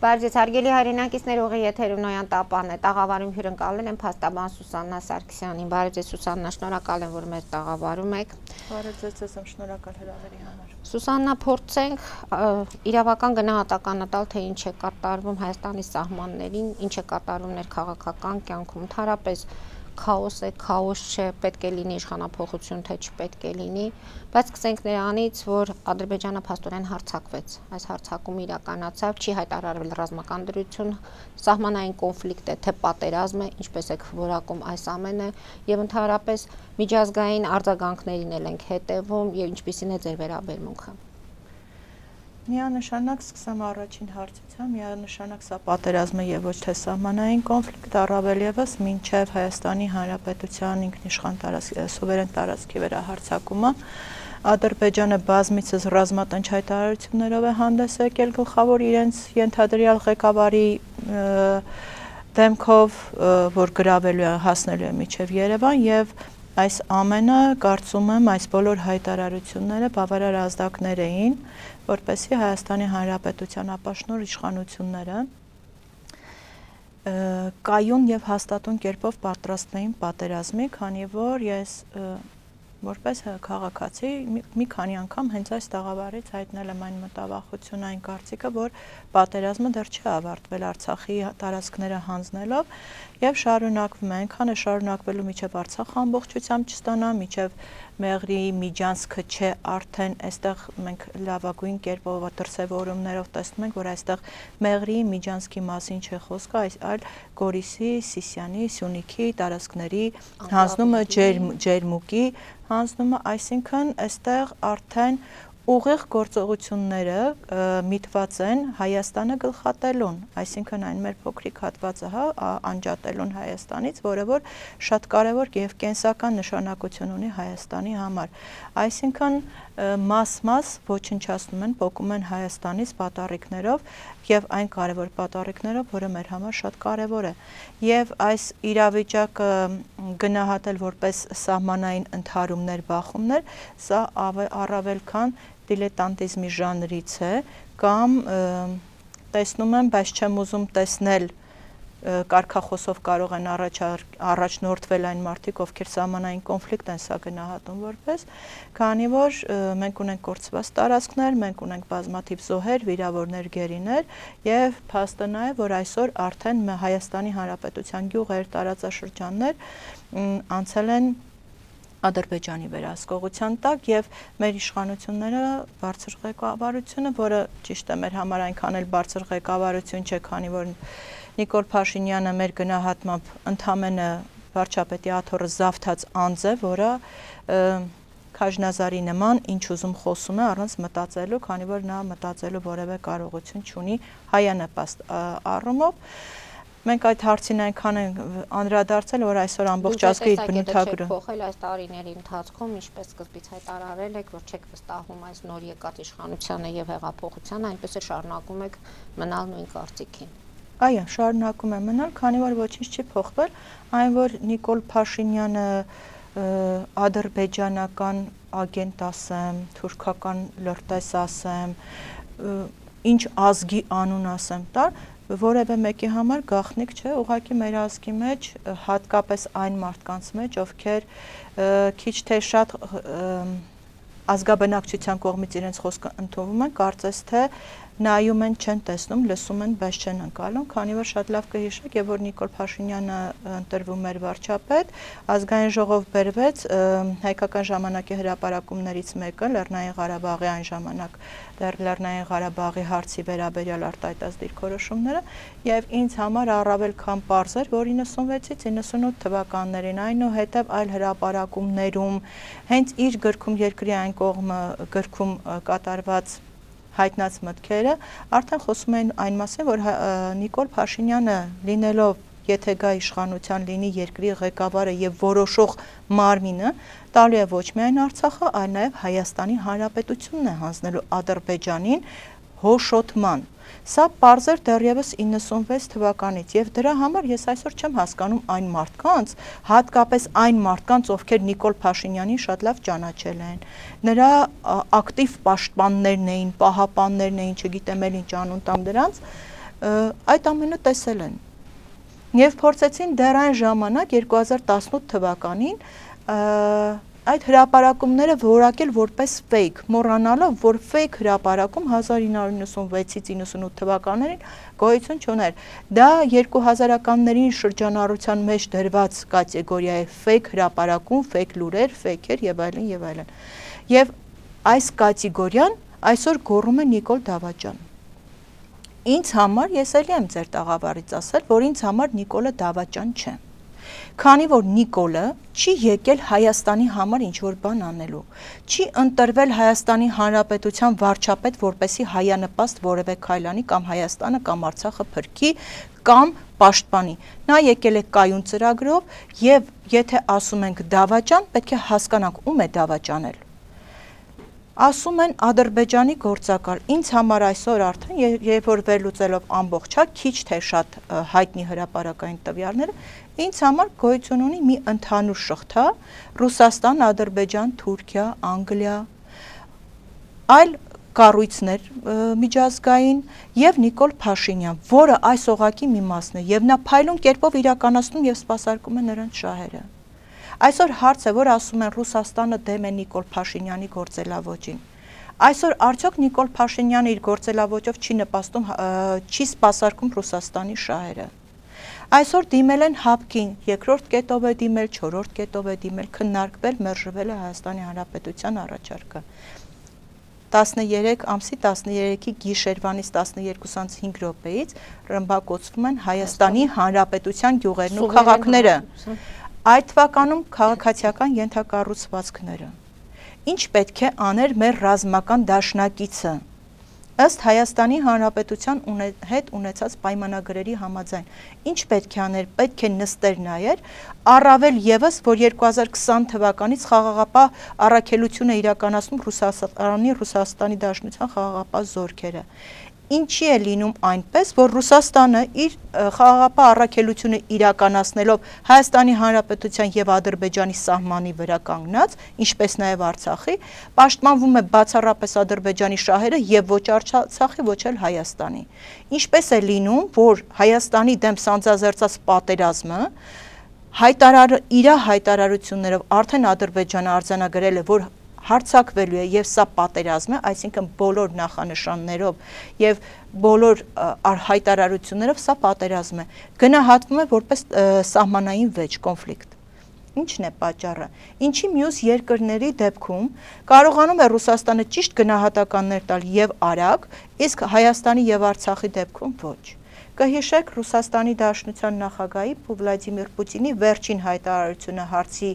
Բարձր հարգելի հայրենակիցներ, ուղի եթերում Նոյան Տապանն է, տաղավարում հյուրընկալել եմ փաստաբան Սուսաննա Սարգսյանին։ Բարև ձեզ Սուսաննա, շնորհակալ եմ, որ մեզ տաղավարում եք։ Բարև ձեզ, եմ շնորհակալ հրավերի համար։ Սուսաննա, փորձենք իրավական գնահատականը տալ, թե ինչ է կատարվում Հայաստանի սահմաններին, ինչ է կատարվում ներքաղաքական կյանքում, ընդհանրապես քաոս է, քաոս չէ, պետք է լինի իշխանափոխություն, թե չպետք է լինի, բայց սկսենք նրանից, որ Ադրբեջանը փաստորեն հարձակվեց, այս հարձակումը իրականացավ, չի հայտարարվել ռազմական դրություն, սահմանային կոնֆլիկտ է, թե պատերազմ է, ինչպես եք որակում այս ամենը, եւ ընդհանրապես միջազգային արձագանքներին էլ ենք հետևում եւ ինչպիսին է ձեր վերաբերմունքը։ Միանշանակ սկսեմ առաջին հարցից, միանշանակ սա պատերազմ է եւ ոչ թե սահմանային կոնֆլիկտ, առավել եւս մինչեւ Հայաստանի Հանրապետության ինքնիշխան սուվերեն տարածքի վերահարձակումը Ադրբեջանը բազմիցս ռազմատենչ հայտարարություններով է հանդես եկել գլխավոր իրենց ենթադրյալ ղեկավարի դեմքով, որ գրավելու է հասնելու է մինչեւ Երևան եւ այս ամենը կարծում եմ այս բոլոր հայտարարությունները բավարար ազդակներ էին, որպեսզի Հայաստանի Հանրապետության ապաշնոր իշխանությունները կայուն եւ հաստատուն կերպով պատրաստվեին պատերազմի, քանի որ ես որպես քաղաքացի մի քանի անգամ հենց այս տաղավարից հայտնել եմ այն մտավախություն, այն կարծիքը, որ պատերազմը դեռ չի ավարտվել Արցախի տարածքները հանձնելով եւ շարունակվում է, այնքան է շարունակվելու մինչեւ Արցախը ամբողջությամբ չստանա, մինչեւ Մեղրի Միջանցքը չէ արդեն այստեղ մենք լավագույն կերպով դրսևորումներով տեսնում ենք, որ այստեղ Մեղրի Միջանցքի մասին չէ խոսքը, այլ Գորիսի, Սիսիանի, Սյունիքի տարածքների հանձնումը ջերմուկի հանձնումը, այսինքն այստեղ արդեն ուղիղ գործողությունները միտված են Հայաստանը գլխատելուն, այսինքն այն մեր փոքրիկ հատվածը անջատելուն Հայաստանից, որը որ շատ կարևոր եւ կենսական նշանակություն ունի Հայաստանի համար, այսինքն մաս ոչնչացնում են, փոկում են Հայաստանից պատառիկներով եւ այն կարևոր պատառիկներով, որը մեր համար շատ կարևոր է եւ այս իրավիճակը գնահատել որպես սահմանային ընդհարումներ, բախումներ, սա առավել քան դիլետանտիզմի ժանրից է կամ տեսնում եմ, բայց չեմ ուզում տեսնել կարգախոսով կարող են առաջնորդվել այն մարդիկ, ովքեր սահմանային կոնֆլիկտ են սա գնահատում որպես, քանի որ մենք ունենք կորցված տարածքներ, մենք ունենք բազմաթիվ զոհեր, վիրավորներ, գերիներ եւ փաստը նա է, որ այսօր արդեն Հայաստանի Հանրապետության գյուղեր, տարածաշրջաններ անցել են Ադրբեջանի վերահսկողության տակ եւ մեր իշխանությունները բարձր ղեկավարությունը, որը ճիշտ է մեր համար այնքան էլ բարձր ղեկավարություն չէ, քանի որ Նիկոլ Փաշինյանը մեր գնահատմամբ ընդամենը վարչապետի աթոռը զավթած անձ է, որը Քաժնազարի նման ինչ ուզում խոսում է առանց մտածելու, քանի որ նա մտածելու որևէ կարողություն չունի հայանպաստ առումով Մենք այդ հարցին այնքան են անդրադարձել, որ այսօր ամբողջ ազգի բնութագրը փոխել այս տարիների ընթացքում, ինչպես սկզբից հայտարարել եք, որ չեք վստահում այս նոր եկած իշխանությանը եւ հեղափոխությանը, այնպես էլ շարունակում եք մնալ նույն կարծիքին։ Այո, շարունակում եմ մնալ, քանի որ ոչինչ չի փոխվել, այն որ Նիկոլ Փաշինյանը ադրբեջանական ագենտ ասեմ, թուրքական լրտես ասեմ, ինչ ազգի անուն ասեմ տար, որևէ մեկի համար գաղտնիք չէ, ուղղակի մեր ազգի մեջ, հատկապես այն մարդկանց մեջ, ովքեր քիչ թե շատ ազգաբնակչության կողմից իրենց խոսքը ընդունվում են, կարծես թե նայում են, չեն տեսնում, լսում են, բայց չեն ընկալում, քանի որ շատ լավ կհիշեք, եւ որ Նիկոլ Փաշինյանը ընտրվում էր վարչապետ, ազգային ժողով բերվեց հայկական ժամանակի հրապարակումներից մեկը Լեռնային Ղարաբաղի այն ժամանակ Լեռնային Ղարաբաղի հարցի վերաբերյալ արտահայտած դիրքորոշումները եւ ինձ համար առավել քան պարզ էր, որ 96-ից 98 թվականներին այնուհետև այլ հրապարակումներում հենց իր գրքում երկրի այն կողմը գրքում կատարված հայտնած մտքերը արդեն խոսում են այն մասին, որ Նիկոլ Փաշինյանը լինելով եթե գա իշխանության լինի երկրի ղեկավարը եւ որոշող մարմինը, տալու է ոչ միայն Արցախը, այլ նաեւ Հայաստանի Հանրապետությունն է հանձնելու Ադրբեջանին հոշոտման։ Սա պարզ էր դեռևս 96 թվականից եւ դրա համար ես այսօր չեմ հասկանում այն մարդկանց, հատկապես այն մարդկանց, ովքեր Նիկոլ Փաշինյանին շատ լավ ճանաչել են։ Նրա ակտիվ պաշտպաններն էին, պահապաններն էին, չգիտեմ էլ ինչ անուն տամ դրանց, այդ ամենը տեսել են եւ փորձեցին դեռ այն ժամանակ 2018 թվականին այդ հրապարակումները որակել որպես fake, մոռանալով, որ fake հրապարակում 1996-ից 98 թվականներին գոյություն չուներ։ Դա 2000-ականներին շրջանառության մեջ դրված կատեգորիա է fake հրապարակում, fake լուրեր, fake-եր եւ այլն եւ այլն։ Եվ այս կատեգորիան այսօր գոռում է Նիկոլ Դավաճան։ Ինձ համար, ես էլի եմ ձեր տաղավարից ասել, որ ինձ համար Նիկոլը Դավաճան չէ։ Քանի որ Նիկոլը չի եկել Հայաստանի համար ինչ-որ բան անելու, չի ընտրվել Հայաստանի Հանրապետության վարչապետ, որպեսի հայանպաստ որևէ քայլ անի կամ Հայաստանը կամ Արցախը փրկի կամ պաշտպանի։ Նա եկել է կայուն ծրագրով եւ եթե ասում ենք Դավաճան, պետք է հասկանանք ում է Դավաճանել։ Ասում են Ադրբեջանի գործակալ։ Ինձ համար այսօր արդեն, երբ որ վերլուծելով ամբողջ, քիչ թե շատ հայտնի հրապարակային տվյալները, ինձ համար գոյություն ունի մի ընդհանուր շղթա՝ Ռուսաստան, Ադրբեջան, Թուրքիա, Անգլիա, այլ կառույցներ միջազգային եւ Նիկոլ Փաշինյան, որը այս օղակի մի մասն է եւ նա փայլուն կերպով իրականացնում եւ սպասարկում է նրանց շահերը։ Այսօր հարց է, որ ասում են Ռուսաստանը դեմ է Նիկոլ Փաշինյանի գործելավոճին։ Այսօր արդյոք Նիկոլ Փաշինյանը իր գործելավոճով չի նպաստում, չի սպասարկում Ռուսաստանի շահերը։ Այսօր դիմել են ՀԱՊԿ-ին, երկրորդ կետով է դիմել, չորրորդ կետով է դիմել, քննարկվել, մերժվել է Հայաստանի Հանրապետության առաջարկը։ 13 ամսի 13-ի գիշերվանից 12:05 րոպեից ռմբակոծվում են Հայաստանի Հանրապետության գյուղերն ու քաղաքները։ Այդ թվականում քաղաքացիական ենթակառուցվածքները։ Ինչ պետք է աներ մեր ռազմական դաշնակիցը։ Ըստ Հայաստանի Հանրապետության հետ ունեցած պայմանագրերի համաձայն, ինչ պետք է աներ, պետք է նստեր նայեր, առավել եւս, որ 2020 թվականից խաղաղապահ առաքելությունը իրականացնում Ռուսաստանի Դաշնության խաղաղապահ զորքերը։ Ինչի է լինում այնպես, որ Ռուսաստանը իր խաղաղապահ առաքելությունը իրականացնելով Հայաստանի Հանրապետության եւ Ադրբեջանի սահմանի վրա կանգնած, ինչպես նաեւ Արցախի, պաշտպանվում է բացառապես Ադրբեջանի շահերը եւ ոչ Արցախի, ոչ էլ Հայաստանի։ Ինչպես է լինում, որ Հայաստանի դեմ սանձազերծած պատերազմը իր հայտարարություններով արդեն Ադրբեջանը արձանագրել է, որ հարցակվելու է եւ սա պատերազմ է, այսինքն բոլոր նախանշաններով եւ բոլոր հայտարարություններով սա պատերազմ է, գնահատվում է որպես սահմանային վեճ, կոնֆլիկտ։ Ինչն է պատճառը։ Ինչի մյուս երկրների դեպքում կարողանում է Ռուսաստանը ճիշտ գնահատականներ տալ եւ արագ, իսկ Հայաստանի եւ Արցախի դեպքում ոչ։ Կհիշեք Ռուսաստանի Դաշնության նախագահի Վլադիմիր Պուտինի վերջին հայտարարությունը հարցի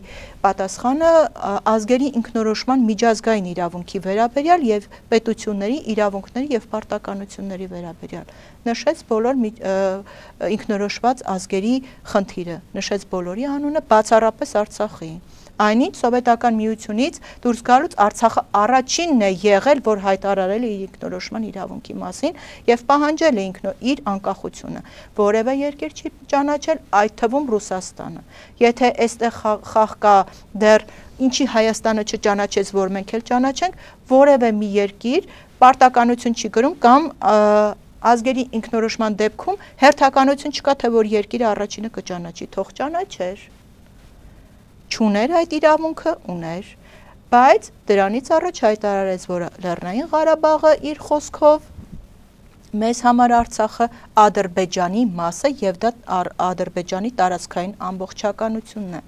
պատասխանը ազգերի ինքնորոշման միջազգային իրավունքի վերաբերյալ եւ պետությունների իրավունքների եւ պարտականությունների վերաբերյալ։ Նշեց բոլոր ինքնորոշված ազգերի խնդիրը, նշեց բոլորի անունը, բացառապես Արցախի։ Այնինչ Սովետական միությունից դուրս գալուց Արցախը առաջինն է եղել, որ հայտարարել է իր ինքնորոշման իրավունքի մասին եւ պահանջել է իր անկախությունը։ Որևէ երկիր չի ճանաչել, այդ թվում Ռուսաստանը։ Եթե այստեղ խաղ կա դեռ ինչի Հայաստանը չճանաչեց, որ մենք էլ ճանաչենք, որևէ մի երկիր պարտականություն չի գրում կամ ազգերի ինքնորոշման դեպքում հերթականություն չկա, թե որ երկիրը առաջինը կճանաչի, թող ճանաչեր։ Չուներ այդ իրավունքը, ուներ, բայց դրանից առաջ հայտարարեց, որ Լեռնային Ղարաբաղը իր խոսքով մեզ համար Արցախը Ադրբեջանի մաս է եւ դա Ադրբեջանի տարածքային ամբողջականությունն է։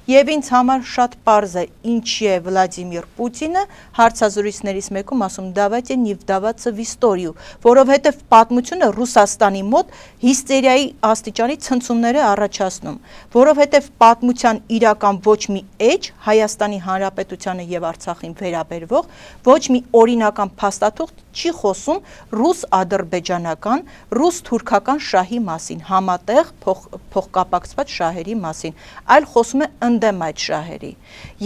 Եվ ինձ համար շատ պարզ է, ինչի է Վլադիմիր Պուտինը հարցազրույցներից մեկում ասում «Давайте не вдаваться в историю», որովհետեւ պատմությունը Ռուսաստանի մոտ հիստերիայի աստիճանի ցնցումներ է առաջացնում, որովհետեւ պատմության իրական ոչ մի էջ Հայաստանի Հանրապետությանը եւ Արցախին վերաբերվող ոչ մի օրինական փաստաթուղթ չի խոսում ռուս-ադրբեջանական, ռուս-թուրքական շահի մասին, համատեղ փոխկապակցված շահերի մասին, այլ խոսում է ընդդեմ այդ շահերի։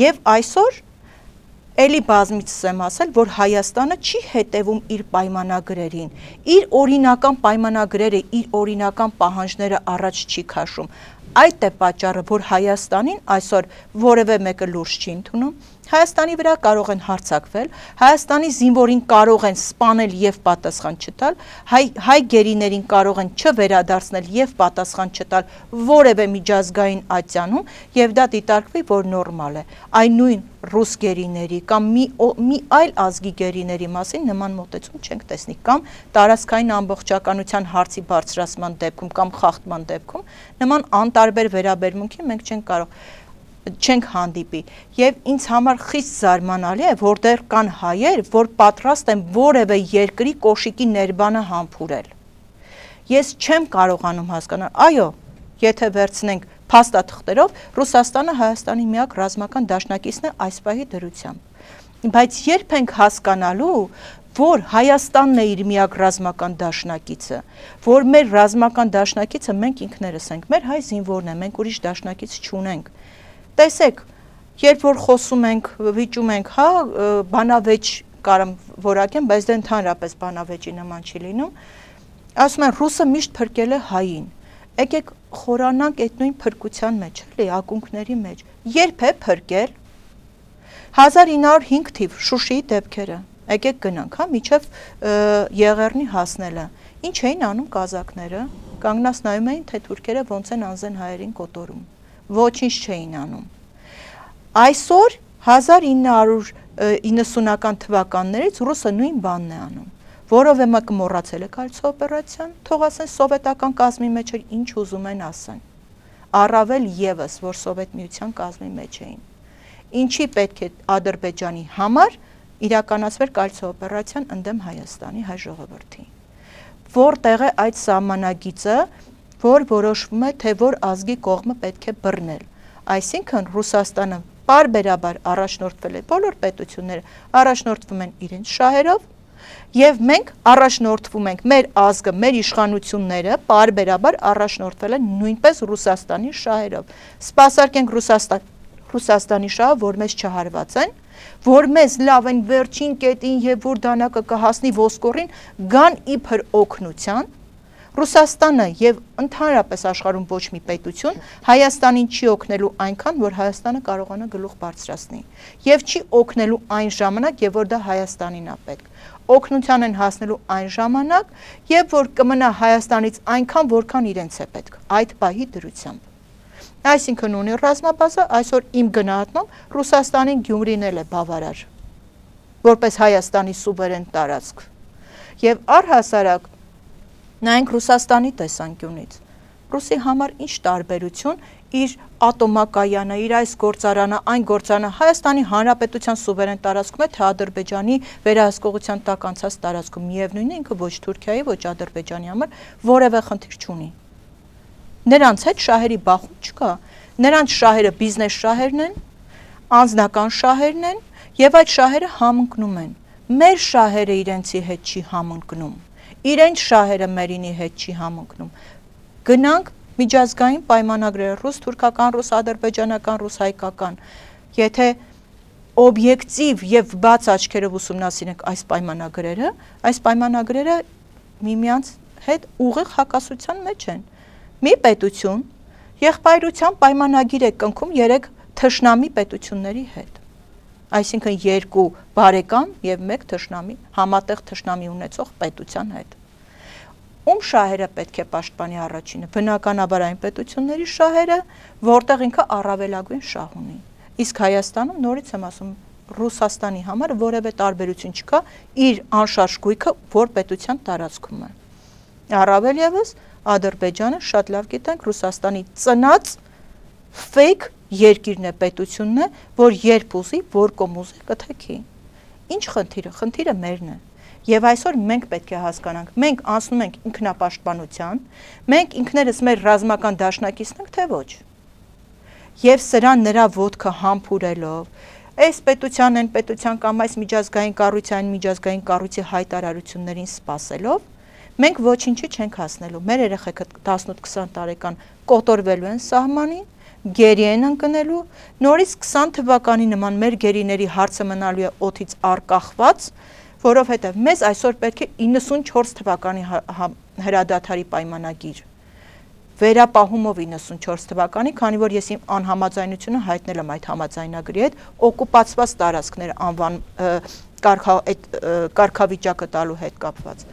Եվ այսօր էլի բազմիցս եմ ասել, որ Հայաստանը չի հետևում իր պայմանագրերին, իր օրինական պայմանագրերը, իր օրինական պահանջները առաջ չի քաշում։ այդ է պատճառը, որ Հայաստանին այսօր որևէ մեկը լուրջ չի ընդունում, Հայաստանի վրա կարող են հարձակվել, Հայաստանի զինվորին կարող են սպանել եւ պատասխան չտալ, հայ գերիներին կարող են չվերադարձնել եւ պատասխան չտալ որևէ միջազգային ատյանում եւ դա դիտարկվի, որ նորմալ է։ Այն նույն ռուս գերիների կամ մի այլ ազգի գերիների մասին նման մոտեցում չենք տեսնի կամ տարածքային ամբողջականության հարցի բարձրացման դեպքում կամ խախտման դեպքում նման անտարբեր վերաբերմունքի մենք չենք հանդիպի եւ ինձ համար խիստ զարմանալի է, որ դեռ կան հայեր, որ պատրաստ են որևէ երկրի կոշիկի ներբանը համբուրել։ Ես չեմ կարողանում հասկանալ, այո, եթե վերցնենք փաստաթղթերով, Ռուսաստանը Հայաստանի միակ ռազմական դաշնակիցն է այս պահի դրությամբ։ Բայց երբ ենք հասկանալու, որ Հայաստանն է իր միակ ռազմական դաշնակիցը, որ մեր ռազմական դաշնակիցը մենք ինքներս ենք, մեր հայ զինվորն է, մենք ուրիշ դաշնակից չունենք։ Տեսեք, երբ որ խոսում ենք, վիճում ենք, հա, բանավեճ կարամ որակեմ, բայց դա ընդհանրապես բանավեճի նման չի լինում, ասում են ռուսը միշտ փրկել է հային։ Եկեք խորանանք այդ նույն փրկության մեջ, էլի, ակունքների մեջ։ Երբ է փրկել 1905 թիվ Շուշիի դեպքերը։ Եկեք գնանք, հա, միջև Եղեռնի հասնելը։ Ինչ էին անում կազակները։ Կանգնած նայում էին, թե թուրքերը ոնց են անզեն հայերին կոտորում։ Ոչինչ չէին անում։ Այսօր 1990-ական թվականներից ռուսը նույն բանն է անում, որովհետեւ մեկը մոռացել է Կալցո օպերացիան, թող ասեն սովետական կազմի մեջ էր ինչ ուզում են ասեն։ Առավել եւս, որ Սովետ միության կազմի մեջ էին։ Ինչի պետք է Ադրբեջանի համար իրականացվեր Կալցո օպերացիան ընդդեմ Հայաստանի հայ ժողովրդի։ Որտեղ է այդ սահմանագիծը, որ որոշվում է, թե որ ազգի կողմը պետք է բռնել։ Այսինքն Ռուսաստանը պարբերաբար առաջնորդվել է, բոլոր պետությունները առաջնորդվում են իրենց շահերով, եւ մենք առաջնորդվում ենք, մեր ազգը, մեր իշխանությունները պարբերաբար առաջնորդվել են նույնպես Ռուսաստանի շահերով։ Սպասարկենք Ռուսաստանի շահը, որ մեզ չհարված են, որ մեզ լավ են վերջին կետին եւ որ դանակը կհասնի ոսկորին, գան իբր օգնության։ Ռուսաստանը եւ ընդհանրապես աշխարհում ոչ մի պետություն Հայաստանին չի օգնելու այնքան, որ Հայաստանը կարողանա գլուխ բարձրացնի եւ չի օգնելու այն ժամանակ, եւ որ դա Հայաստանին է պետք։ Օգնության են հասնելու այն ժամանակ, եւ որ կմնա Հայաստանից այնքան, որքան իրենց է պետք։ Այդ պահի դրությամբ։ Այսինքն ունի ռազմաբազա, այսօր իմ գնահատմամբ Ռուսաստանին Գյումրին էլ է բավարար, որպես Հայաստանի սուվերեն տարածք։ Եվ առհասարակ նայենք Ռուսաստանի տեսանկյունից։ Ռուսի համար ինչ տարբերություն իր ատոմակայանը, իր այս գործարանը, այն գործարանը Հայաստանի Հանրապետության սուվերեն տարածքում է, թե Ադրբեջանի վերահսկողության տակ անցած տարածքում։ Միևնույնն է, ինքը ոչ Թուրքիայի, ոչ Ադրբեջանի համար որևէ խնդիր չունի։ Նրանց հետ շահերի բախում չկա։ Նրանց շահերը բիզնես շահերն են, անձնական շահերն են, եւ այդ շահերը համընկնում են։ Մեր շահերը իրենցի հետ չի համընկնում։ Իրենց շահերը մերինի հետ չի համընկնում։ Գնանք միջազգային պայմանագրերը ռուս-թուրքական, ռուս-ադրբեջանական, ռուս-հայկական։ Եթե օբյեկտիվ եւ բաց աչքերով ուսումնասիրենք այս պայմանագրերը միմյանց հետ ուղիղ հակասության մեջ են։ Մի պետություն եղբայրության պայմանագիր է կնքում 3 թշնամի պետությունների հետ։ Այսինքն 2 բարեկամ եւ 1 թշնամի, համատեղ թշնամի ունեցող պետության հետ։ Ում շահերը պետք է պաշտպանի առաջինը։ Բնականաբար այն պետությունների շահերը, որտեղ ինքը առավելագույն շահ ունի։ Իսկ Հայաստանում նորից եմ ասում, Ռուսաստանի համար որևէ տարբերություն չկա իր անշարժ գույքը որ պետության տարածքում է։ Առավել եւս Ադրբեջանը շատ լավ գիտենք Ռուսաստանի ծնած fake երկիրն է, պետությունն է, որ երբ ուզի, որ կոմ ուզի կթեքի։ Ինչ խնդիրը։ Խնդիրը մերն է։ Եվ այսօր մենք պետք է հասկանանք, մենք անցնում ենք ինքնապաշտպանության, մենք ինքներս մեր ռազմական դաշնակիցն ենք, թե ոչ։ Եվ սրան նրա ոտքը համբուրելով, այս պետության են պետության կամ այս միջազգային կառույցի հայտարարություններին սպասելով, մենք ոչինչի չենք հասնելու։ Մեր երեխեքը 18-20 տարեկան կոտորվելու են սահմանին, գերի են ընկնելու, նորից 20 թվականի նման մեր գերիների հարցը մնալու է օդից արկախված, որովհետև մեզ այսօր պետք է 94 թվականի հրադադարի պայմանագիր։ վերապահումով 94 թվականի, քանի որ ես իմ անհամաձայնությունը հայտնել եմ այդ համաձայնագրի հետ, օկուպացված տարածքներ անվան կարգավիճակը տալու հետ կապված։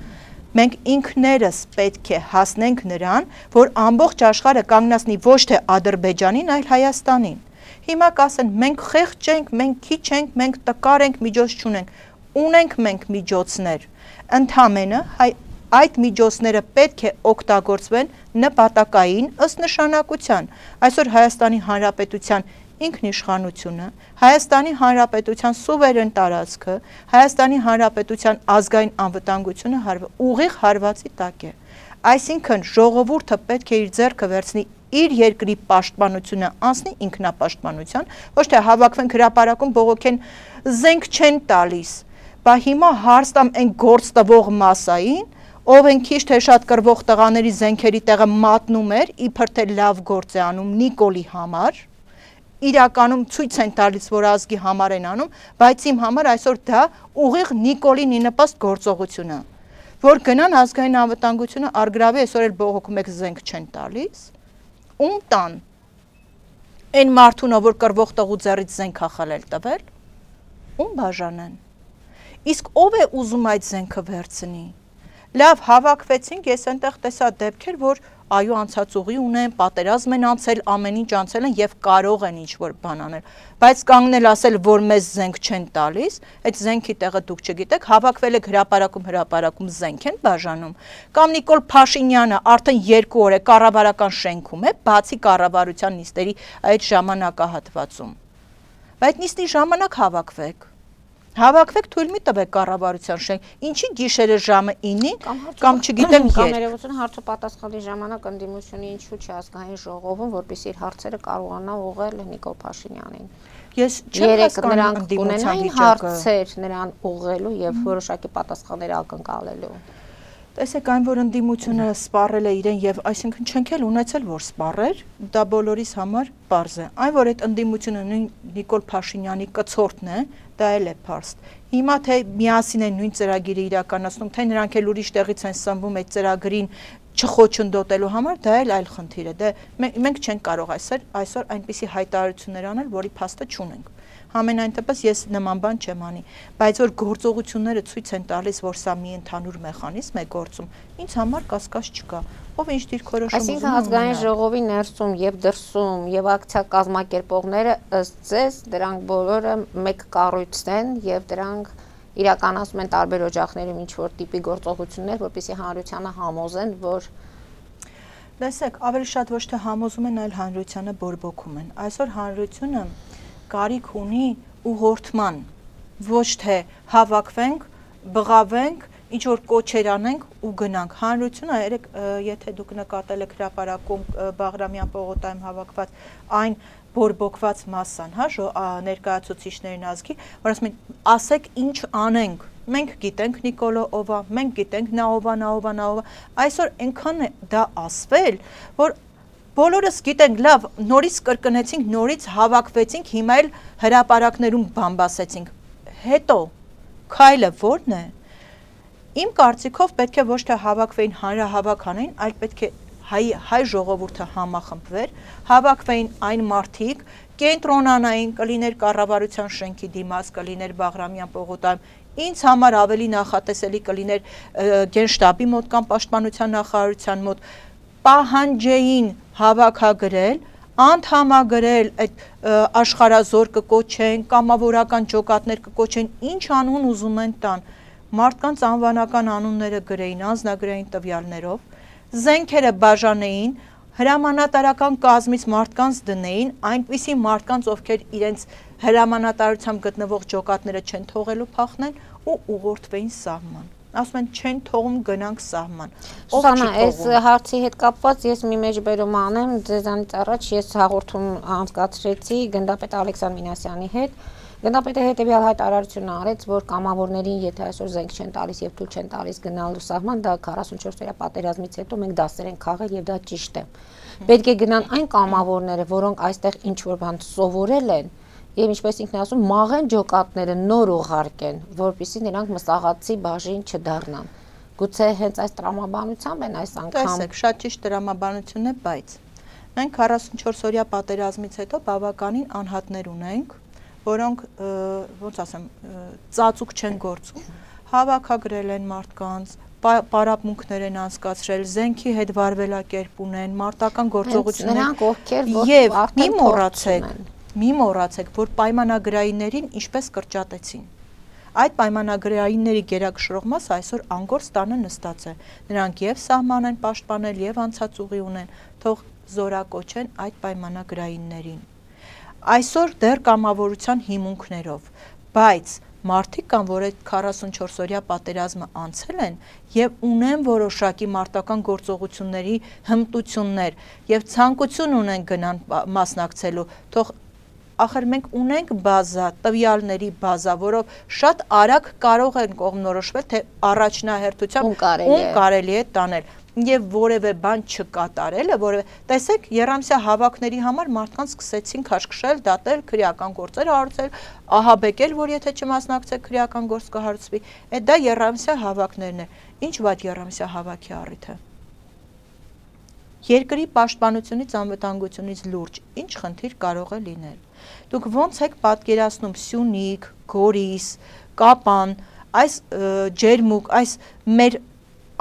Մենք ինքներս պետք է հասնենք նրան, որ ամբողջ աշխարհը կանգնացնի ոչ թե Ադրբեջանին, այլ Հայաստանին։ Հիմա կասեն, մենք խեղճ ենք, մենք քիչ ենք, մենք տկար ենք, միջոց չունենք։ Ունենք մենք միջոցներ։ Ընդհանրապես այդ միջոցները պետք է օգտագործվեն նպատակային ըստ նշանակության։ Այսօր Հայաստանի Հանրապետության ինքնիշխանությունը, Հայաստանի Հանրապետության սուվերեն տարածքը, Հայաստանի Հանրապետության ազգային անվտանգությունը ուղիղ հարվածի տակ է։ Այսինքն ժողովուրդը պետք է իր ձեռքը վերցնի իր երկրի պաշտպանությունը անցնի ինքնապաշտպանության, ոչ թե հավաքվենք հրապարակում բողոքեն զենք չեն տալիս, բա հիմա հարց տամ այն գործ տվող մասային, ով են քիչ թե շատ կռվող տղաների զենքերի տեղը մատնում էր, իբր թե լավ գործ է անում Նիկոլի համար, իրականում ցույց են տալիս, որ ազգի համար են անում, բայց իմ համար այսօր դա ուղիղ Նիկոլին նպաստ գործողություն է, որ գնան ազգային անվտանգությունը արգրավի, այսօր էլ բողոքում եք զենք չեն տալիս, ում տան, այն մարդուն, որ կռվող տղու ձեռից զենք է խլել տվել, ում բաժանեն, իսկ ով է ուզում այդ զենքը վերցնի, լավ հավաքվեցինք, ես այնտեղ տեսա դեպքեր, որ այո անցած ուղի ունեն, պատերազմ են անցել, ամեն ինչ անցել են եւ կարող են ինչ-որ բան անել, բայց կանգնել ասել, որ մեզ զենք չեն տալիս, այդ զենքի տեղը դուք չգիտեք, հավաքվել եք հրապարակում զենք են բաժանում, կամ Նիկոլ Փաշինյանը արդեն 2 օր է կառավարական շենքում է, բացի կառավարության նիստերի այդ ժամանակահատվածում, բայց նիստի ժամանակ հավաքվեք, թույլ մի տվեք կառավարության շենք, ինչի գիշերը ժամը 9-ին կամ չգիտեմ երբ։ Կամ ներողություն հարցը պատասխանի ժամանակ ընդդիմությունը ինչու՞ չի ազգային ժողովում, որպեսզի իր հարցերը կարողանա ուղղել Նիկոլ Փաշինյանին։ Ես չեմ հասկանում ընդդիմության հարցեր նրան ուղղելու եւ որոշակի պատասխաններ ակնկալելու։ Տեսեք այն, որ ընդդիմությունը սպառել է իրեն եւ այսինքն չենք էլ ունեցել, որ սպառեր, դա բոլորիս համար պարզ է։ Այն, որ այդ ընդդիմությունը նույն Նիկոլ Փաշինյանի կցորդն է, դա էլ է փարստ։ Հիմա թե միասին են նույն ծրագիրը իրականացնում, թե նրանք էլ ուրիշ տեղից են սնվում այդ ծրագրին չխոչընդոտելու համար, դա էլ այլ խնդիր է։ Դե մենք չենք կարող այսօր այնպիսի հայտարարություններ անել, որի փաստը չունենք։ Համենայն դեպս ես նման բան չեմ անի, բայց որ գործողությունները ցույց են տալիս, որ սա մի ընդհանուր մեխանիզմ է գործում, ինձ համար կասկած չկա, ով ինչ դիրքորոշում ուզում է։ Այսինքն ազգային ժողովի ներսում եւ դրսում եւ ակցիա կազմակերպողները ըստ ձեզ դրանք բոլորը մեկ կառույց են եւ դրանք իրականացում են տարբեր օջախներում ինչ որ տիպի գործողություններ, որպեսզի հանրությանը համոզեն, որ տեսեք, ավելի շատ ոչ թե համոզում են, այլ հանրությանը բորբոքում են։ Այսօր հանրությունը կարիք ունի ուղղորդման, ոչ թե հավաքվենք, բղավենք, ինչ որ կոչեր անենք ու գնանք։ Հանրությունը, եթե դուք նկատել եք հրապարակում Բաղրամյան պողոտայում հավաքված այն բորբոքված մասսան, ներկայացուցիչներին ազգի, որ ասում են, ասեք ինչ անենք։ Մենք գիտենք Նիկոլը ով է, մենք գիտենք նա ով է, այսօր այնքան է դա ասվել, որ բոլորս գիտենք, լավ, նորից կրկնեցինք, նորից հավաքվեցինք, հիմա էլ հրապարակներում բամբասեցինք։ Հետո քայլը ո՞րն է։ Իմ կարծիքով պետք է ոչ թե հավաքվեին հանրահավաք անեին, այլ պետք է հայ ժողովուրդը համախմբվեր, հավաքվեին այն մարդիկ, կենտրոնանային, կլիներ կառավարության շենքի դիմաց, կլիներ Բաղրամյան պողոտայում, ինձ համար ավելի նախատեսելի կլիներ Գենշտաբի մոտ կամ Պաշտպանության նախարարության մոտ, պահանջեին հավաքագրել, անդամագրել այդ աշխարհազոր կկոչեն, կամավորական ջոկատներ կկոչեն, ինչ անուն ուզում են տան, մարդկանց անվանական անունները գրեին, անձնագրային տվյալներով, զենքերը բաժանեին, հրամանատարական կազմից մարդկանց դնեին, այնպիսի մարդկանց, ովքեր իրենց հրամանատարությամբ գտնվող ջոկատները չեն թողելու փախնեն ու ուղղորդվեին սահման։ Ասում են չեն թողում գնանք սահման։ Սուսանա, այս հարցի հետ կապված ես մի մեջբերում անեմ, ձեզանից առաջ ես հաղորդում անցկացրեցի գնդապետ Ալեքսան Մինասյանի հետ։ Գնդապետը հետևյալ հայտարարություն արեց, որ կամավորներին, եթե այսօր զենք չեն տալիս եւ թույլ չեն տալիս գնալու սահման, դա 44-օրյա պատերազմից հետո մենք դասեր ենք խաղել եւ դա ճիշտ է։ Պետք է գնան այն կամավորները, որոնք այստեղ ինչ որ բան սովորել են, եւ ինչպես ինքն ասում, մաղեն ջոկատները նոր ուղարկեն, որպեսզի նրանք մսաղացի բաժին չդառնան։ Գուցե հենց այս տրամաբանությամբ են այս անգամ։ Տեսեք, շատ ճիշտ տրամաբանություն է, բայց մենք 44-օրյա պատերազմից հետո բավականին անհատներ ունենք, որոնք ոնց ասեմ, ծածուկ չեն գործում, հավաքագրել են մարդկանց, պարապմունքներ են անցկացրել, զենքի հետ վարվելակերպ ունեն, մարտական գործողություններ, նրանք ովքեր եւ մի մոռացեք, որ պայմանագրայիններին ինչպես կրճատեցին։ Այդ պայմանագրայինների գերակշռող մասը այսօր անգործ տանը նստած է։ Նրանք եւ սահման են պաշտպանել եւ անցածուղի ունեն, թող զորակոչեն այդ պայմանագրայիններին։ Այսօր դեռ կամավորության հիմունքներով, բայց մարդիկ կան, որ այդ 44-օրյա պատերազմը անցել են եւ ունեն որոշակի մարտական գործողությունների հմտություններ եւ ցանկություն ունեն գնան մասնակցելու, թող ախր մենք ունենք բազա, տվյալների բազա, որով շատ արագ կարող են կողմնորոշվել, թե առաջնահերթությամբ ում կարելի է տանել եւ որևէ բան չկատարելը, որևէ տեսեք, Եռամսյա հավաքների համար մարդկանց սկսեցին քաշքշել, դատել, քրեական գործեր հարուցել, ահաբեկել, որ եթե չմասնակցեք քրեական գործ կհարուցվի, դա Եռամսյա հավաքներն են։ Ինչ վատ Եռամսյա հավաքի առիթ է։ Երկրի պաշտպանությունից, անվտանգությունից լուրջ ինչ խնդիր կարող է լինել։ Դուք ոնց եք պատկերացնում Սյունիք, Գորիս, Կապան, այս ջերմուկ, այս մեր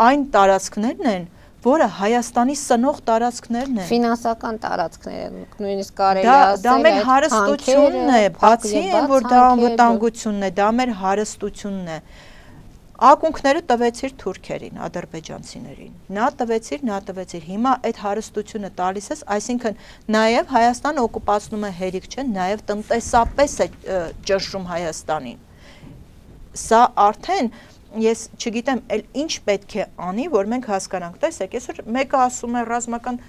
այն տարածքներն են, որը Հայաստանի սնող տարածքներն են։ Ֆինանսական տարածքներ են, նույնիսկ կարելի ասել։ Դա մեր հարստությունն է, բացի այն, որ դա անվտանգությունն է, դա մեր հարստությունն է։ Ակունքները տվեցիր թուրքերին, ադրբեջանցիներին, նա տվեցիր, հիմա այդ հարստությունը տալիս ես, այսինքն նաև Հայաստանը օկուպացնում է հերիք չէ, նաև տնտեսապես է ճնշում Հայաստանին։ Սա արդեն ես չգիտեմ, ինչ պետք է անի, որ մենք հասկանանք, տեսեք, այսօր մեկը ասում է ռազմական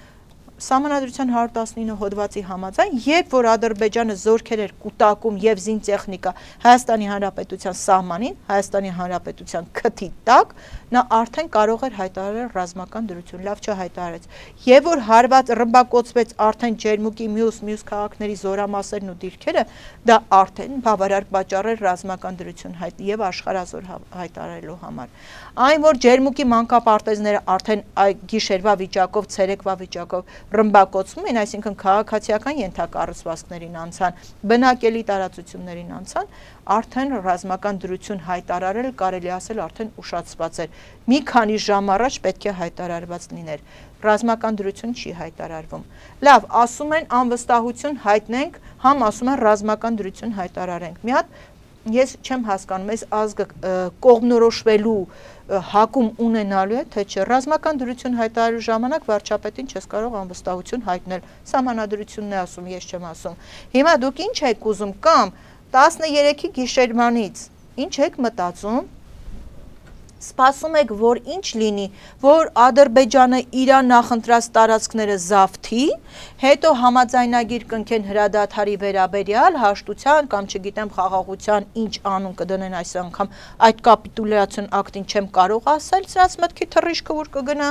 Սահմանադրության 119 հոդվածի համաձայն, երբ որ Ադրբեջանը զորքեր էր կուտակում եւ զինտեխնիկա Հայաստանի Հանրապետության սահմանին, Հայաստանի Հանրապետության քթի տակ, նա արդեն կարող էր հայտարարել ռազմական դրություն, լավ չհայտարարեց։ Եվ որ հարված ռմբակոծվեց արդեն ջերմուկի մյուս քաղաքների զորամասերն ու դիրքերը, դա արդեն բավարար պատճառ էր ռազմական դրություն եւ աշխարհազոր հայտարարելու համար։ Այն որ ջերմուկի մանկապարտեզները արդեն գիշերվա վիճակով, ցերեկվա վիճակով ռմբակոծվում են, այսինքն քաղաքացիական ենթակառուցվածքներին անցան, բնակելի տարածություններին անցան, արդեն ռազմական դրություն հայտարարել, կարելի ասել արդեն ուշացված էր։ Մի քանի ժամ առաջ պետք է հայտարարված լիներ։ Ռազմական դրություն չի հայտարարվում։ Լավ, ասում են անվստահություն հայտնենք, համ ասում են ռազմական դրություն հայտարարենք։ Մի հատ ես չեմ հասկանում, այս ազգը կողմնորոշվելու հակում ունենալու է, թե չէ, ռազմական դրություն հայտարարելու ժամանակ վարչապետին չես կարող անվստահություն հայտնել, սահմանադրությունն է ասում, ես չեմ ասում։ Հիմա դուք ինչ եք ուզում, կամ 13-ի գիշերվանից ինչ եք մտածում, սպասում եք, որ ինչ լինի, որ Ադրբեջանը իր նախընտրած տարածքները զավթի, հետո համաձայնագիր կնքեն հրադադարի վերաբերյալ, հաշտության կամ չգիտեմ խաղաղության ինչ անուն կդնեն այս անգամ, այդ կապիտուլյացիոն ակտին չեմ կարող ասել, սրանց մտքի թռիչքը որ կգնա,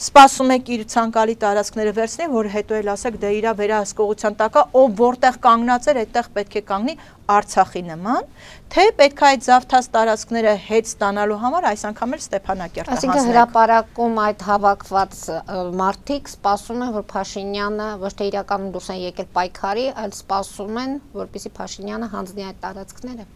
սպասում եք իր ցանկալի տարածքները վերցնի, որ հետո էլ ասեք դե իր վերահսկողության տակ է, ով որտեղ կանգնած էր, այդտեղ պետք է կանգնի Արցախի նման, թե պետք է այդ զավթած տարածքները հետ ստանալու համար այս անգամ էլ Ստեփանակերտը հասնենք։ Այսինքն հրապարակում այդ հավաքված մարդիկ սպասում են, որ Փաշինյանը ոչ թե իրականում դուրս են եկել պայքարի, այլ սպասում են, որպեսզի Փաշինյանը հանձնի այդ տարածքները։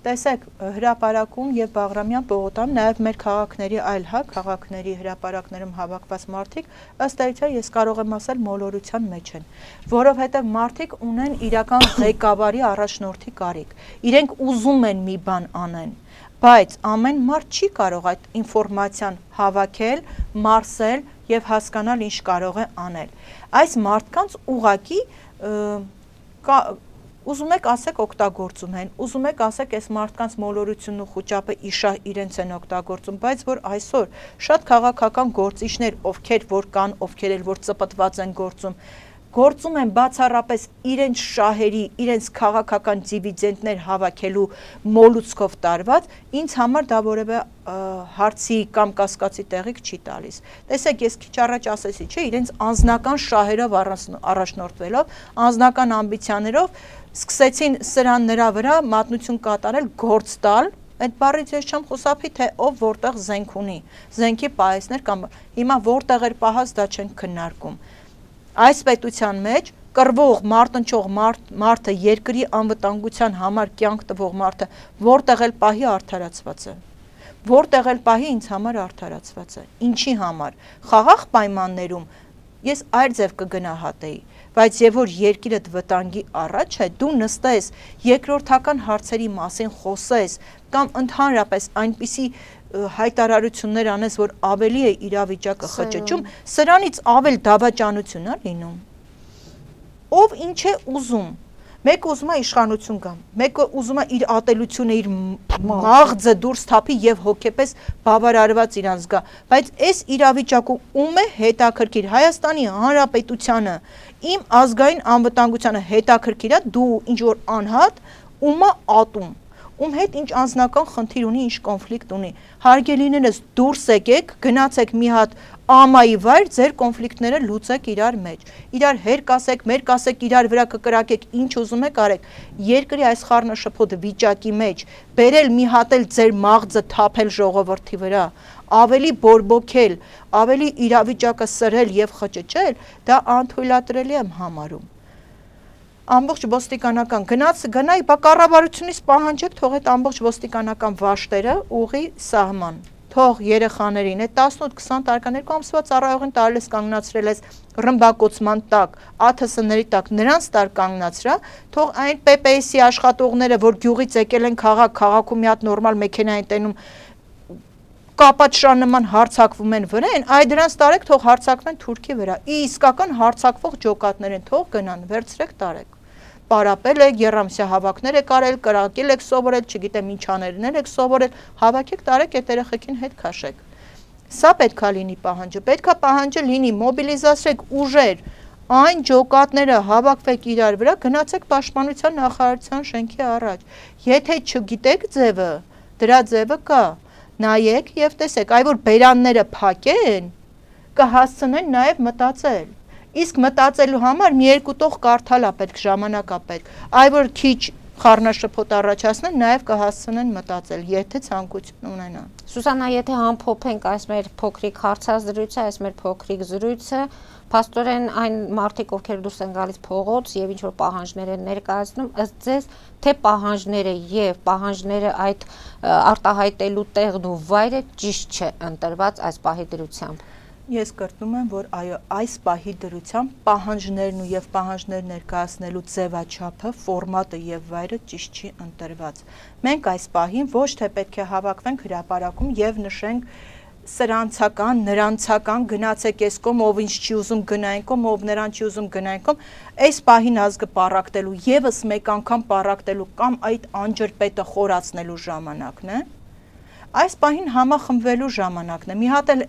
Տեսեք, հրապարակում եւ Բաղրամյան պողոտան, նաեւ մեր քաղաքների այլ քաղաքների հրապարակներում հավաքված մարդիկ, ըստ էության ես կարող եմ ասել մոլորության մեջ են, որովհետեւ մարդիկ ունեն իրական ղեկավարի առաջնորդի կարիք։ Իրենք ուզում են մի բան անեն, բայց ամեն մարդ չի կարող այդ ինֆորմացիան հավաքել, մարսել եւ հասկանալ ինչ կարող է անել։ Այս մարդկանց ուղակի ուզում եք ասեք օգտագործում են, ուզում եք ասեք այս մարդկանց մոլորությունն ու խուճապը իշահ իրենց են օգտագործում, բայց որ այսօր շատ քաղաքական գործիչներ, ովքեր որ կան, ովքեր էլ որ ծպտված են գործում են բացառապես իրենց շահերի, իրենց քաղաքական դիվիդենտներ հավաքելու մոլուցքով տարված, ինձ համար դա որևէ հարցի կամ կասկածի տեղիք չի տալիս։ Տեսեք, ես քիչ առաջ ասեցի, չէ, իրենց անձնական շահերով առաջնորդվելով, անձնական ամբիցիաներով սկսեցին սրան նրա վրա մատնություն կատարել, գործ տալ, Այդ բառից ես չեմ խուսափի, թե ով որտեղ զենք ունի, զենքի պահեսներ կամ հիմա որտեղ էր պահած դա չենք քննարկում։ Այս պետության մեջ կռվող, մարտնչող մարդը, երկրի անվտանգության համար կյանք տվող մարդը որտեղ էլ պահի արդարացված է։ Որտեղ էլ պահի ինձ համար արդարացված է։ Ինչի համար։ Խաղաղ պայմաններում ես այլ ձև կգնահատեի, բայց եւ որ երկիրդ վտանգի առաջ է, դու նստես երկրորդական հարցերի մասին խոսես կամ ընդհանրապես այնպիսի հայտարարություններ անես, որ ավելի է իրավիճակը խճճում, սրանից ավել դավաճանություն է լինում։ Ով ինչ է ուզում։ Մեկը ուզում է իշխանություն գամ, մեկը ուզում է իր ատելությունը, իր մաղձը դուրս թափի եւ հոգեպես բավարարված իրան զգա, բայց այս իրավիճակը ում է հետաքրքիր։ Հայաստանի Հանրապետությանը, իմ ազգային անվտանգությանը հետաքրքիր է դու ինչ որ անհատ, ումա ատում, ում հետ ինչ անձնական խնդիր ունի, ինչ կոնֆլիկտ ունի։ Հարգելիներս դուրս եկեք, գնացեք մի հատ ամայի վայր, ձեր կոնֆլիկտները լուծեք իրար մեջ։ Իրար հերկ ասեք, մերկ ասեք, իրար վրա կկրակեք, ինչ ուզում եք արեք։ Երկրի այս խառնաշփոթ վիճակի մեջ բերել մի հատ էլ ձեր մաղձը թափել ժողովրդի վրա, ավելի բորբոքել, ավելի իրավիճակը սրել եւ խճճել, դա անթույլատրելի եմ համարում։ Ամբողջ ոստիկանական գնայի բա կառավարությունից պահանջեք թող այդ ամբողջ ոստիկանական վաշտերը ուղի սահման, թող երեխաներին այդ 18-20 տարեկան 2 ամսվա ծառայողին տարելես կանգնացրել ես ռմբակոծման տակ, ԱԹՍ-ների տակ, նրանց տար կանգնացրա, թող այն ՊՊՍ-ի աշխատողները, որ գյուղից եկել են քաղաքում մի հատ նորմալ մեքենա են տենում, կապաճշան նման հարցակվում են վրեն, այ դրանց տարեք թող հարցակվեն Թուրքի վրա, իսկական հարցակվող ջոկատներ են, թող գնան, վերցրեք տարեք։ Պարապել եք, երամսյա հավաքներ եք արել, կրակել եք սովորել, չգիտեմ ինչ աներներ եք սովորել, հավաքեք տարեք այդ երեխեքին հետ քաշեք։ Սա պետքա լինի պահանջը, պետքա պահանջը լինի, մոբիլիզացրեք ուժեր, այն ջոկատները հավաքվեք իրար վրա, գնացեք պաշտպանության նախարարության շենքի առաջ։ Եթե չգիտեք ձևը, դրա ձևը կա, նայեք եւ տեսեք, այ որ բերանները փակեն, կհասցնեն նաեւ մտածել։ Իսկ մտածելու համար մի երկու տող կարդալ է պետք, ժամանակ է պետք, այ որ քիչ խառնաշփոթ առաջացնեն, նաև կհասցնեն մտածել, եթե ցանկություն ունենան։ Սուսանա, եթե ամփոփենք այս մեր փոքրիկ հարցազրույցը, այս մեր փոքրիկ զրույցը, փաստորեն այն մարդիկ, ովքեր դուրս են գալիս փողոց եւ ինչ որ պահանջներ են ներկայացնում, ըստ ձեզ, թե պահանջները եւ պահանջները այդ արտահայտելու տեղն ու վայրը ճիշտ չէ ընտրված այս պահի դրությամբ։ Ես կրկնում եմ, որ այո, այս պահի դրությամբ պահանջներն ու եւ պահանջներ ներկայացնելու ձևաչափը, ֆորմատը եւ վայրը ճիշտ չի ընտրված։ Մենք այս պահին ոչ թե պետք է հավաքվենք հրապարակում եւ նշենք սրանցական, նրանցական, գնացեք ես կողմ, ով ինչ չի ուզում գնային կողմ, ով նրան չի ուզում գնային կողմ, այս պահին ազգը պառակտելու, եւս մեկ անգամ պառակտելու կամ այդ անջրպետը խորացնելու ժամանակն է։ Այս պահին համախմբվելու ժամանակն է։ Մի հատ էլ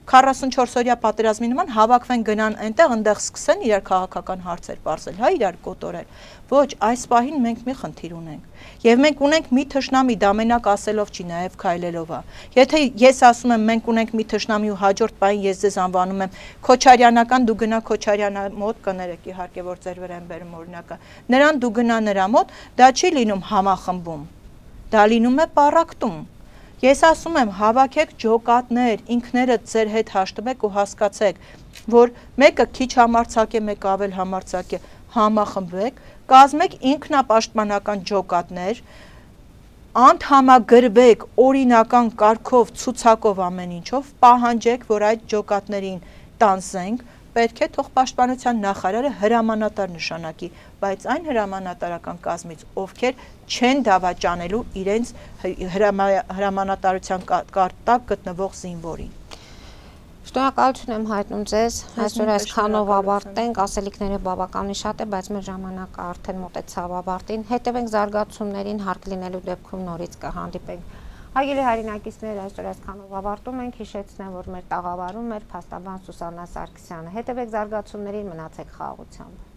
44-օրյա պատերազմի նման հավաքվեն գնան այնտեղ, այնտեղ սկսեն իրար քաղաքական հարցեր պարզել, հա իրար կոտորել։ Ոչ, այս պահին մենք մի խնդիր ունենք։ Եվ մենք ունենք մի թշնամի, դա մենակ ասելով չի, նաև քայլելով է։ Եթե ես ասում եմ մենք ունենք մի թշնամի ու հաջորդ պահին ես ձեզ անվանում եմ Քոչարյանական, դու գնա Քոչարյանը մոտ կներեք, իհարկե որ ձեր վրա են բերում օրինակը։ Նրան դու գնա նրա մոտ, դա չի լինում համախմբում։ Դա լինում է պառակտում։ Ես ասում եմ, հավաքեք ջոկատներ, ինքներդ ձեր հետ հաշտվեք ու հասկացեք, որ մեկը քիչ համարձակ է, մեկը ավել համարձակ է, համախմբվեք, կազմեք ինքնապաշտպանական ջոկատներ, անդամագրվեք օրինական կարգով, ցուցակով ամեն ինչով, պահանջեք, որ այդ ջոկատներին տանձենք, պետք է թող պաշտպանության նախարարը հրամանատար նշանակի, բայց այն հրամանատարական կազմից, ովքեր չեն դավաճանելու իրենց հրամանատարության տակ գտնվող զինվորին։ Շնորհակալություն եմ հայտնում ձեզ, այսօր այսքանով ավարտենք, ասելիքները բավականին շատ է, բայց մեր ժամանակը արդեն մոտեցավ ավարտին, հետևենք զարգացումներին, հարկ լինելու դեպքում նորից կհանդիպենք։ Հարգելի հայրենակիցներ, այսօր այսքանով ավարտում ենք, հիշեցնեմ, որ մեր տաղավարում էր փաստաբան Սուսաննա Սարգսյանը, հետևեք զարգացումներին, մնացեք խաղաղությամբ։